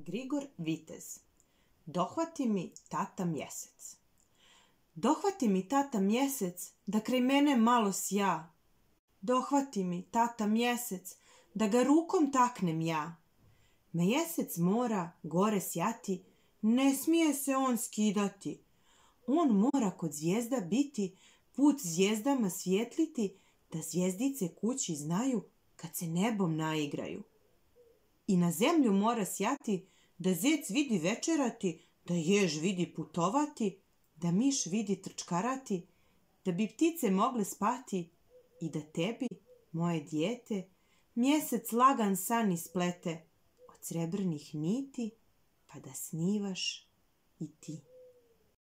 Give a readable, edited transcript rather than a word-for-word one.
Grigor Vitez. Dohvati mi tata mjesec. Dohvati mi tata mjesec da kraj mene malo sja. Dohvati mi tata mjesec da ga rukom taknem ja. Mjesec mora gore sjati, ne smije se on skidati. On mora kod zvijezda biti, put zvijezdama svijetliti, da zvijezdice kući znaju kad se nebom naigraju. I na zemlju mora sjati, da zec vidi večerati, da jež vidi putovati, da miš vidi trčkarati, da bi ptice mogle spati i da tebi, moje dijete, mjesec lagan san isplete od srebrnih niti, pa da snivaš i ti.